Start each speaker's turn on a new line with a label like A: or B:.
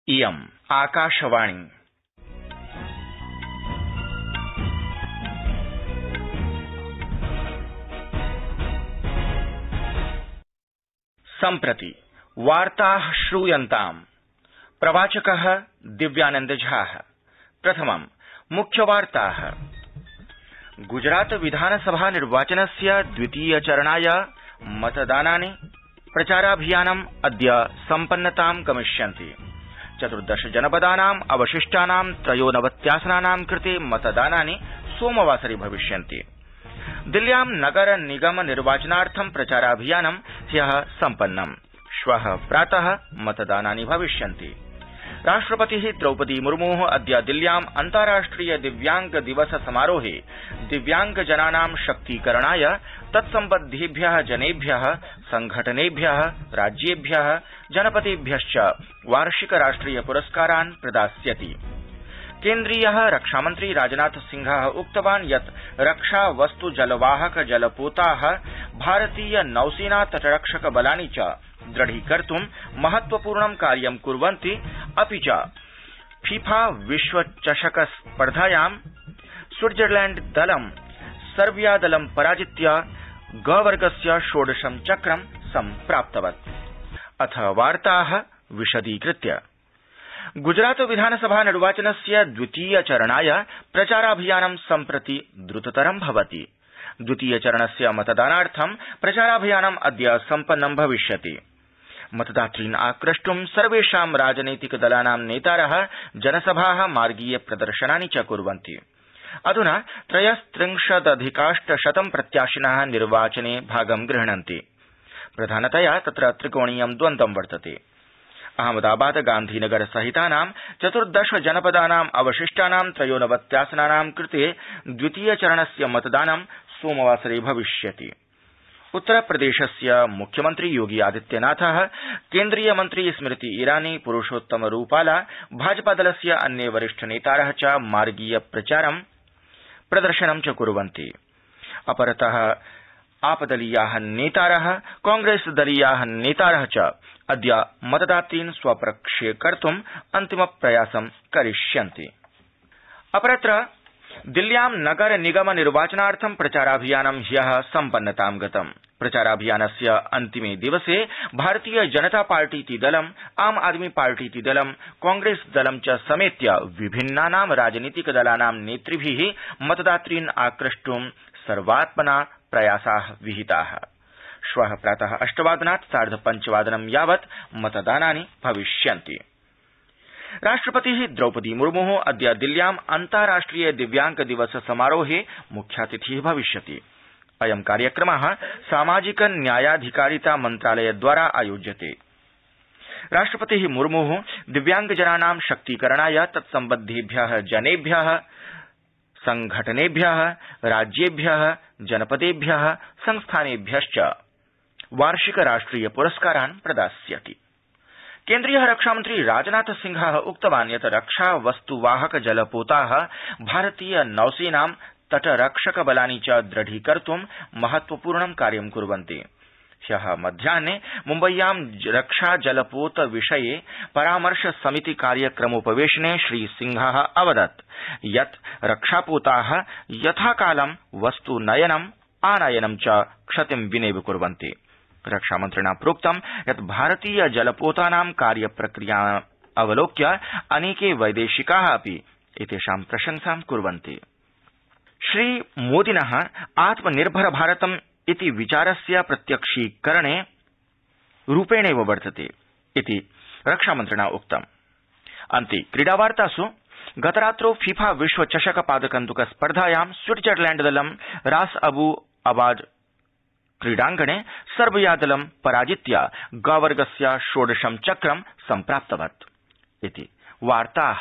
A: इयम् आकाशवाणी। सम्प्रति वार्ताः श्रूयन्ताम्। प्रवाचकः दिव्यानंद झा। प्रथमम् मुख्यवार्ताः। गुजरात विधानसभा निर्वाचनस्य द्वितीय चरणाय मतदानानि प्रचाराभियानम् अद्य सम्पन्नतां गमिष्यन्ति। 14 जनपदानाम् अवशिष्टानां 93 कृते मतदानानि सोमवासरे भविष्यन्ति। दिल्ल्यां नगर निगम निर्वाचनार्थं प्रचाराभियानं ह्यः सम्पन्नम्। श्वः प्रातः मतदानानि भविष्यन्ति। राष्ट्रपतिः द्रौपदी मुर्मुः अद्य दिल्ल्याम् अन्ताराष्ट्रिय दिव्यांग दिवस समारोहे दिव्यांगजनानां शक्तीकरणाय तत्सम्बद्धेभ्यः जनेभ्यः संघटनेभ्यः राज्येभ्यः जनपदेभ्यश्च वार्षिक राष्ट्रिय पुरस्कारान् प्रदास्यति। केन्द्रीयः रक्षामन्त्री राजनाथ सिंहः उक्तवान् यत् रक्षा वस्तु जलवाहक जलपोताः भारतीय नौसेना तटरक्षक बलानि च दृढीकर्तुं महत्वपूर्णं कार्यं कुर्वन्ति। अपि च फीफा विश्वचषक स्पर्धायां स्विट्जरलैण्ड दलं सर्बिया दलं पराजित्य ग वर्गस्य षोडशं चक्रं सम्प्राप्तवत्। अथ वार्ताः विशदीकृत्य। गुजरात विधानसभा निर्वाचनस्य द्वितीय चरणाय प्रचाराभियानं सम्प्रति द्रुततरं भवति। द्वितीय चरणस्य मतदानार्थं प्रचाराभियानम् अद्य सम्पन्नं भविष्यति। मतदातॄन् आक्रष्टुं सर्वेषां राजनैतिक दलानां नेतारः जनसभाः मार्गीय प्रदर्शनानि च कुर्वन्ति। अधुना 33,800 प्रत्याशिनः निर्वाचने भागं गृह्णन्ति। प्रधानतया तत्र त्रिकोणीयं द्वन्द्वं वर्तते। अहमदाबाद गांधीनगर सहितानां 14 जनपदानाम् अवशिष्टानां 93 कृते द्वितीय चरणस्य मतदानं सोमवासरे भविष्यति। उत्तरप्रदेशस्य मुख्यमन्त्री योगी आदित्यनाथः, केन्द्रीय मन्त्री स्मृति ईरानी, पुरुषोत्तम रूपाला, भाजपादलस्य अन्ये वरिष्ठ नेतारः च मार्गीय प्रचारं प्रदर्शनं च कुर्वन्ति। अपरतः आपदलीयाः नेतारः, कांग्रेस दलीयाः नेतारः च अद्य मतदातॄन् स्वपक्षीकर्तुम् अन्तिम प्रयासं करिष्यन्ति। अपरत्र दिल्ल्यां नगर निगम निर्वाचनार्थं प्रचाराभियानं ह्यः सम्पन्नतां गतम्। प्रचाराभियानस्य अन्तिमे दिवसे भारतीय जनता पार्टीति दलम्, आम आदमी पार्टीति दलं, कांग्रेस दलं च समेत्य विभिन्नानां राजनीतिक दलानां नेतृभिः मतदातॄन् आक्रष्टुं सर्वात्मना प्रयासाः विहिताः। श्वः प्रातः 8 वादनात् 5:30 यावत् मतदानानि भविष्यन्ति। राष्ट्रपतिः द्रौपदी मुर्मुः अद्य दिल्ल्याम् अन्ताराष्ट्रिय दिव्यांग दिवस समारोहे मुख्यातिथिः भविष्यति। अयं कार्यक्रमः सामाजिक न्यायाधिकारिता मन्त्रालयद्वारा आयोज्यते। राष्ट्रपतिः मुर्मुः दिव्यांगजनानां शक्तीकरणाय तत्सम्बद्धेभ्यः जनेभ्यः संघटनेभ्यः राज्येभ्यः जनपदेभ्यः संस्थानेभ्यश्च वार्षिक राष्ट्रिय पुरस्कारान् प्रदास्यति। केन्द्रीयः रक्षामन्त्री राजनाथ सिंहः उक्तवान् यत् रक्षा वस्तुवाहक जलपोताः भारतीय नौसेनां तटरक्षक बलानि च दृढीकर्तुं महत्वपूर्णं कार्यं कुर्वन्ति। ह्यः मध्याह्ने मुम्बय्यां रक्षा जलपोत विषये परामर्श समिति कार्यक्रमोपवेशने श्रीसिंहः अवदत् यत् रक्षापोताः यथाकालं वस्तुनयनम् आनयनं च क्षतिं विनेव कुर्वन्ति। रक्षामन्त्रिणा प्रोक्तं यत् भारतीय जलपोतानां कार्यप्रक्रिया अवलोक्य अनेके वैदेशिकाः अपि एतेषां प्रशंसां कुर्वन्ति। श्रीमोदिनः आत्मनिर्भर भारतम् इति विचारस्य प्रत्यक्षीकरणे रूपेणैव वर्तते इति रक्षामन्त्रिणा उक्तम्। अन्ते क्रीडावार्तासु गतरात्रौ फीफा विश्वचषक पादकन्दुक स्पर्धायां स्विट्जरलैण्ड दलं रास अबू अबाद क्रीडाङ्गणे सर्बिया दलं पराजित्य ग वर्गस्य षोडशं चक्रं सम्प्राप्तवत् इति वार्ताः